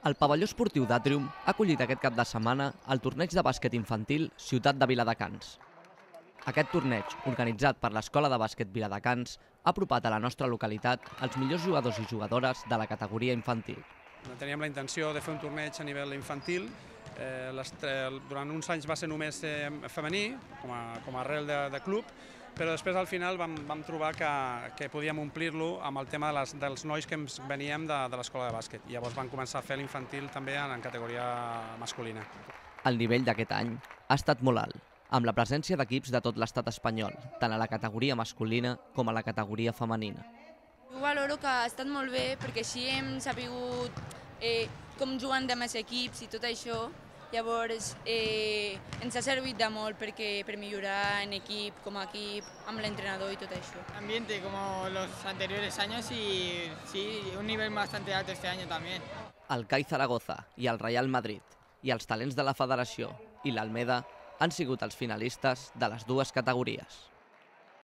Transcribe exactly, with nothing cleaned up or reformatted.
El pavelló esportiu d'Atrium ha acollit aquest cap de setmana el torneig de bàsquet infantil Ciutat de Viladecans. Aquest torneig, organitzat per l'Escola de Bàsquet Viladecans, ha apropat a la nostra localitat els millors jugadors i jugadores de la categoria infantil. Teníem la intenció de fer un torneig a nivell infantil. Eh, durant uns anys va ser només eh, femení, com a, com a arrel de, de club, però després al final vam, vam trobar que, que podíem omplir-lo amb el tema de les, dels nois que ens veníem de, de l'escola de bàsquet. I llavors vam començar a fer l'infantil també en, en categoria masculina. El nivell d'aquest any ha estat molt alt, amb la presència d'equips de tot l'estat espanyol, tant a la categoria masculina com a la categoria femenina. Jo valoro que ha estat molt bé perquè així hem sabut eh, com juguen de més equips i tot això. Llavors eh, ens ha servit de molt perquè, per millorar en equip, com a equip, amb l'entrenador i tot això. Ambiente como los anteriores años y sí, un nivel bastante alto este año también. El C A I Zaragoza i el Real Madrid i els talents de la Federació i l'Almeda han sigut els finalistes de les dues categories.